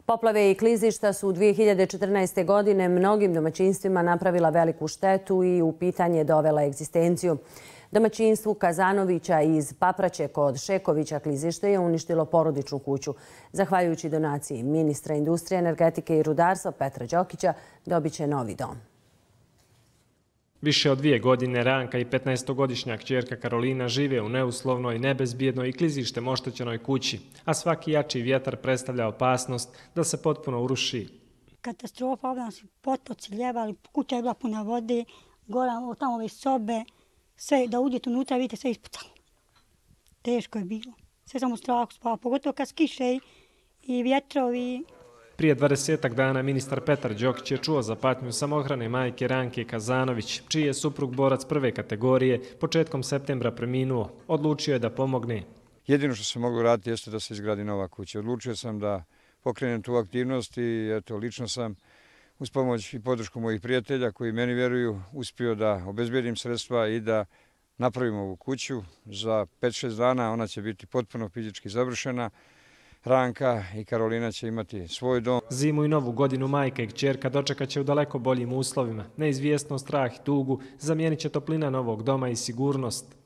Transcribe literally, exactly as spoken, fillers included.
Poplave i klizišta su u dvije hiljade četrnaeste. godine mnogim domaćinstvima napravila veliku štetu i u pitanje dovela egzistenciju. Domaćinstvu Kazanovića iz Papraće kod Šekovića klizište je uništilo porodičnu kuću. Zahvaljujući donaciji ministra industrije, energetike i rudarstva Petra Đokića dobit će novi dom. Više od dvije godine Ranka i petnaestogodišnja kćerka Karolina žive u neuslovnoj, nebezbjednoj i klizištem oštećenoj kući, a svaki jači vjetar predstavlja opasnost da se potpuno uruši. Katastrofa, ovdje su potoci ljevali, kuća je bila puna vode, gora, tamo ove sobe, sve da uđete unutra, vidite sve ispucalo. Teško je bilo, sve sam u strahu spala, pogotovo kad skiše i vjetrovi. Prije dvadesetak dana ministar Petar Đokić je čuo za patnju samohrane majke Ranke Kazanović, čiji je suprug borac prve kategorije početkom septembra preminuo. Odlučio je da pomogne. Jedino što sam mogu raditi jeste da se izgradi nova kuća. Odlučio sam da pokrenem tu aktivnost i eto, lično sam uz pomoć i podršku mojih prijatelja koji meni vjeruju uspio da obezbedim sredstva i da napravimo ovu kuću. Za pet šest dana ona će biti potpuno fizički završena. Ranka i Karolina će imati svoj dom. Zimu i novu godinu majka i kćerka dočekat će u daleko boljim uslovima. Neizvjesnost, strah i tugu zamijenit će toplina novog doma i sigurnost.